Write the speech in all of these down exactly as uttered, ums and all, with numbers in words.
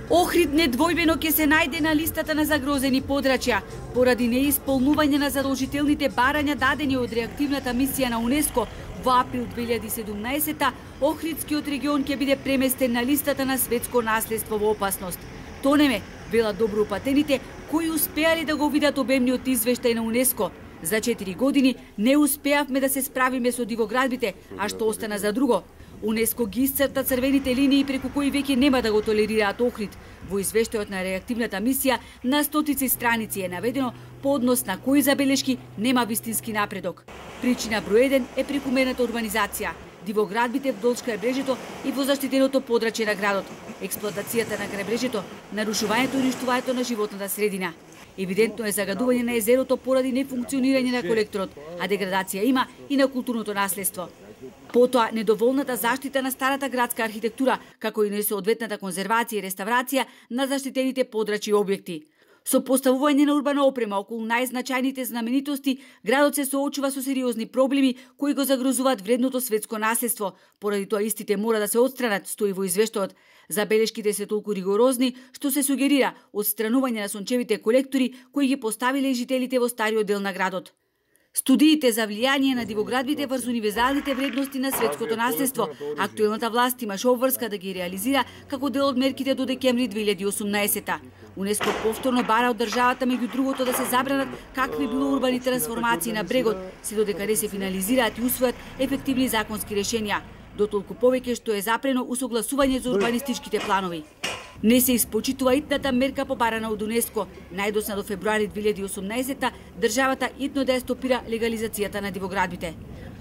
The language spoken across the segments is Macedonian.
Охрид недвојбено ќе се најде на листата на загрозени подрачја поради неисполнување на задолжителните барања дадени од реактивната мисија на УНЕСКО. Во април две илјади и седумнаесета Охридскиот регион ќе биде преместен на листата на светско наследство во опасност. Тонеме, велат добро упатените, кои успеале да го видат обемниот извештај на УНЕСКО. За четири години не успеавме да се справиме со дивоградбите, а што остана за друго? УНЕСКО ги исцрта црвените линии преку кои веќе нема да го толерираат Охрид. Во извештајот на реактивната мисија на стотици страници е наведено по однос на кои забелешки нема вистински напредок. Причина број еден е прекумерната урбанизација, дивоградбите вдолж крајбрежето и во заштитеното подрачје на градот, експлоатацијата на крајбрежето, нарушувањето и уништувањето на животната средина. Евидентно е загадување на езерото поради нефункционирање на колекторот, а деградација има и на културното наследство. Потоа, недоволната заштита на старата градска архитектура, како и несоодветната конзервација и реставрација на заштитените подрачји и објекти. Со поставување на урбана опрема околу најзначајните знаменитости, градот се соочува со сериозни проблеми кои го загрозуваат вредното светско наследство. Поради тоа истите мора да се отстранат, стои во извештајот. Забелешките се толку ригорозни што се сугерира отстранување на сончевите колектори кои ги поставиле жителите во стариот дел на градот. Студиите за влијание на дивоградбите врз универзалните вредности на светското наследство, актуелната власт имаше обврска да ги реализира како дел од мерките до декември две илјади и осумнаесета. УНЕСКО повторно бара од државата меѓу другото да се забранат какви било урбани трансформации на брегот, се додека не се финализираат и усвојат ефективни законски решенија. Дотолку повеќе што е запрено усогласување за урбанистичките планови. Не се испочитува итната мерка побарана од УНЕСКО. Најдосна до февруари две илјади и осумнаесета државата итно да ја стопира легализацијата на дивоградбите.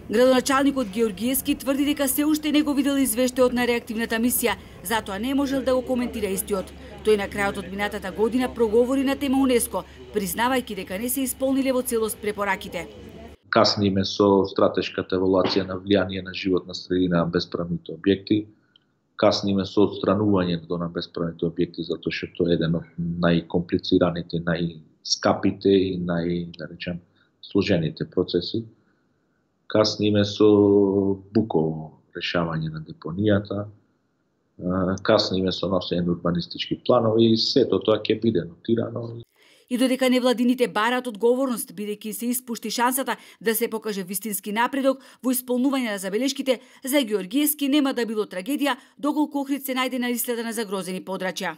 Градоначалникот Георгиевски тврди дека се уште не го видел извештајот на реактивната мисија, затоа не можел да го коментира истиот. Тој на крајот од минатата година проговори на тема УНЕСКО, признавајќи дека не се исполниле во целост препораките. Касниме со стратешката евалуација на влијание на животна средина на бесправните објекти. Касниме со отстранувањето на бесправните објекти, затоа што тоа е еден од најкомплицираните, најскапите и нај, да речем, сложените процеси. Касниме со буково решавање на депонијата. Касниме со носење на урбанистички планови и сето тоа ќе биде нотирано. И додека невладините бараат одговорност, бидејќи се испушти шансата да се покаже вистински напредок во исполнување на забелешките, за Георгиевски нема да било трагедија доколку Охрид се најде на листата на загрозени подрачја.